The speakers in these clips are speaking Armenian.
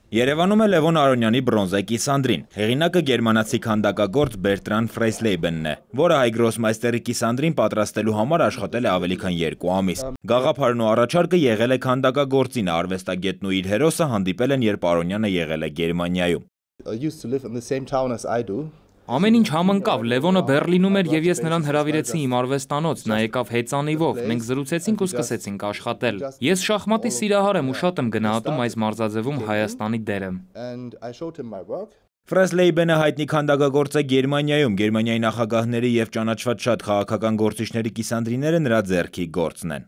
Երևանում է Լևոն Արոնյանի բրոնզե կիսանդրին։ Հեղինակը գերմանացի քանդակագործ Բերտրան Ֆրեյսլեյբենն է, որը հայ գրոսմայստերի կիսանդրին պատրաստելու համար աշխատել է ավելի քան 2 ամիս։ Գաղափարն ու առաջարկը եղել է քանդակագործին, արվեստագետն ու իր հերոսը հանդիպել են, երբ Արոնյանը եղել է Գերմանիայում։ Ամեն ինչ համընկավ, Լևոնը Բեռլինում էր և ես նրան հրավիրեցի իմ արվեստանոց, նա եկավ հեծանիվով, մենք զրուցեցինք ու սկսեցինք աշխատել։ Ես շախմատի սիրահար եմ ու շատ եմ գնահատում այս մարզաձևում Հայաստանի դերը։ Ֆրեյսլեյբենը հայտնի քանդակագործ է Գերմանիայում, Գերմանիայի նախագահների և ճանաչված շատ քաղաքական գործիչների կիսանդրիները նրա ձեռքի գործն են։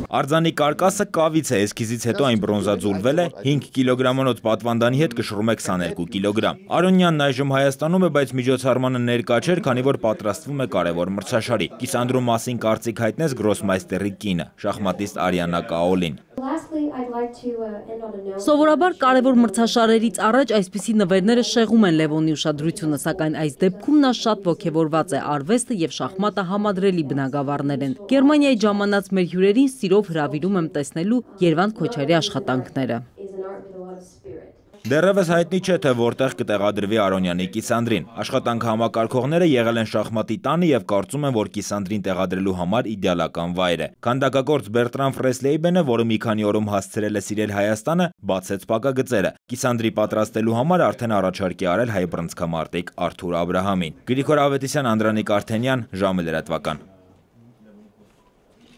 Արձանի կարկասը կավից է, էսքիզից հետո այն բրոնզաձուլվել է, 5 կիլոգրամանոց պատվանդանի հետ կշռում է 22 կիլոգրամ։ Արոնյանն այժմ Հայաստանում է, բայց միջոցառմանը ներկա չէր, քանի որ պատրաստվում է կարևոր մրցաշարի։ Կիսանդրու մասին կարծիք հայտնեց գրոսմայստերի կինը, շախմատիստ Արիանա Կաոլին։ Սովորաբար կարևոր մրցաշարերից առաջ այսպիսի նվերները շեղում են Լևոնի ուշադրությունը, սակայն այս դեպքում նա շատ ոգևորված է, արվեստը և շախմատը համադրելի բնագավառներ են։ Գերմանիայի ժամանած մեր հյուրերին սիրով հրավիրում եմ տեսնելու Երվանդ Քոչարի աշխատանքները։ Դեռևս հայտնի չէ, թե որտեղ կտեղադրվի Արոնյանի կիսանդրին։ Աշխատանք համակարգողները եղել են շախմատի տանը և կարծում են, որ կիսանդրին տեղադրելու համար իդեալական վայր է։ Քանդակագործ Բերտրան Ֆրեյսլեյբենը, որը մի քանի օրում հասցրել է սիրել Հայաստանը, բացեց փակագծերը։ Կիսանդրի պատրաստելու համար արդեն առաջարկ է արել հայ բռնցքամարտիկ Արթուր Աբրահամին։ Գրիգոր Ավետիսյան, Անդրանիկ Արթենյան, ժամը լրատվական։